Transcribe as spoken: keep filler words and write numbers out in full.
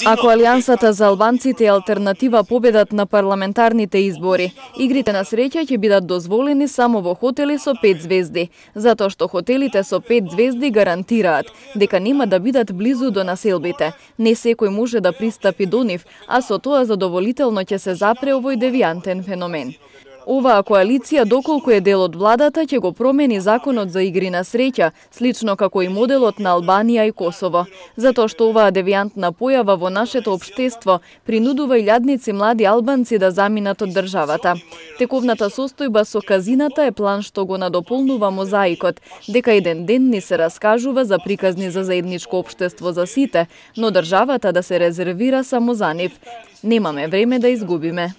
Ако Алијансата за албанците и Алтернатива победат на парламентарните избори, игрите на среќа ќе бидат дозволени само во хотели со пет звезди, затоа што хотелите со пет звезди гарантираат дека нема да бидат близу до населбите. Не секој може да пристапи до нив, а со тоа задоволително ќе се запре овој девијантен феномен. Оваа коалиција, доколку е дел од владата, ќе го промени законот за игри на среќа, слично како и моделот на Албанија и Косово. Затоа што оваа девијантна појава во нашето општество принудува илјадници млади албанци да заминат од државата. Тековната состојба со казината е план што го надополнува мозаикот, дека еден ден ни се раскажува за приказни за заедничко општество за сите, но државата да се резервира само за нив. Немаме време да изгубиме.